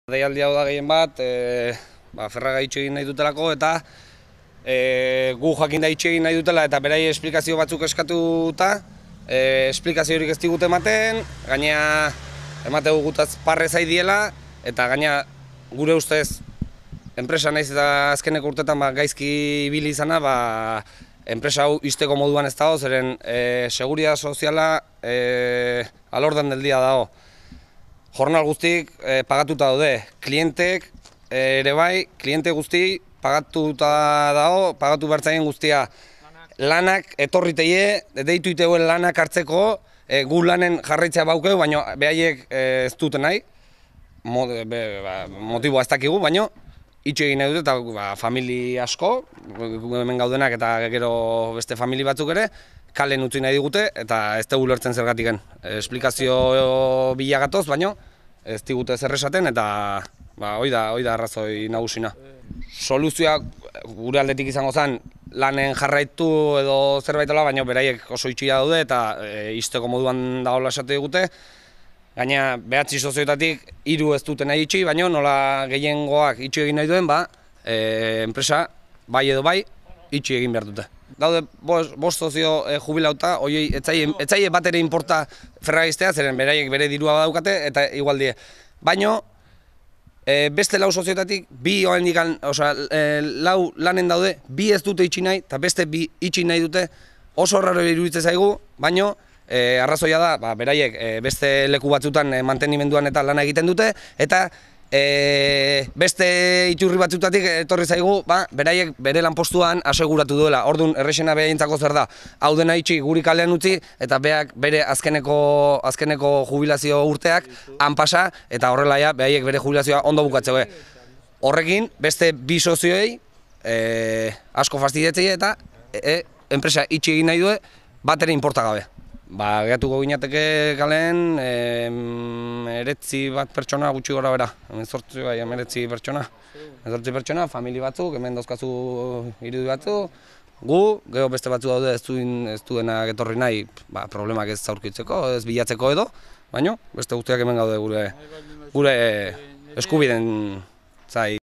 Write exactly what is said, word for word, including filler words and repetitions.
Deialdi hau da gehien bat, e, ba, Ferraga itxe egin nahi dutelako eta e, gu jakin da itxe egin nahi dutela eta berai esplikazio batzuk eskatuta, e, esplikazio horik ez digute ematen, gaina emate gutaz parre zai diela eta gaina gure ustez enpresa naiz eta azkeneko urtetan ba, gaizki ibili izana, ba, enpresa hau izteko moduan ez dago, zeren e, seguridad soziala e, alordan del dia dago. Jornal guztik e, pagatuta daude, klientek e, ere bai, kliente guzti pagatuta dago, pagatu bertzaien guztia. Lanak etorriteie, deitu iteuen lanak hartzeko, e, gu lanen jarraitzea baukeu, baina behaiek e, ez duten nahi, Mo, be, ba, motiboa ez dakigu, baina itxe egin nahi dute eta ba, famili asko, hemen gaudenak eta gero beste famili batzuk ere, kalen utzi nahi digute eta ez dugu lertzen zergatiken. Esplikazio bila gatoz, baina ez digute zer esaten eta ba, hoi da, hoi da arrazoi nagusina. Soluzioa gure aldetik izango zen lanen jarraitu edo zerbait ola, baina beraiek oso itxia daude eta e, izteko moduan dagoela esate digute. Gaina behatzi sozioetatik hiru ez duten nahi itxi, baina nola gehiengoak itxi egin nahi duen, ba, e, enpresa bai edo bai itxi egin behar dute. Daude bost, bost sozio e, jubilauta, oiei etzaie bat ere inporta Ferragiztea, zeren beraiek bere dirua badaukate eta igual die. Baina e, beste lau sozioetatik bi oendikan, osea, e, lau lanen daude, bi ez dute itxi nahi eta beste bi itxi nahi dute, oso raro iruditzen zaigu, baina E, arrazoia da, ba, beraiek e, beste leku batzutan e, mantenimenduan eta lana egiten dute eta e, beste iturri batzutatik etorri zaigu, ba, beraiek bere lanpostuan aseguratu duela. Orduan errexena behaintzako zer da, hau dena itxi guri kalean utzi eta beak bere azkeneko, azkeneko jubilazio urteak han pasa eta horrela ja, beraiek bere jubilazioa ondo bukatzeu. Horrekin beste bi sozioei e, asko fastidiatzei eta e, enpresa itxi egin nahi du bat ere inporta gabe. Ba, gehatuko ginateke kalen, emeretzi bat pertsona gutxi gora bera. Emezortzi bai, emeretzi pertsona. Emezortzi pertsona, famili batzuk, hemen dauzkazu irudi batzuk. Gu, geho beste batzu daude ez, duen, ez duena getorri nahi, ba, problemak ez aurkitzeko, ez bilatzeko edo. Baina, beste guztiak hemen gaude gure, gure eskubiden zai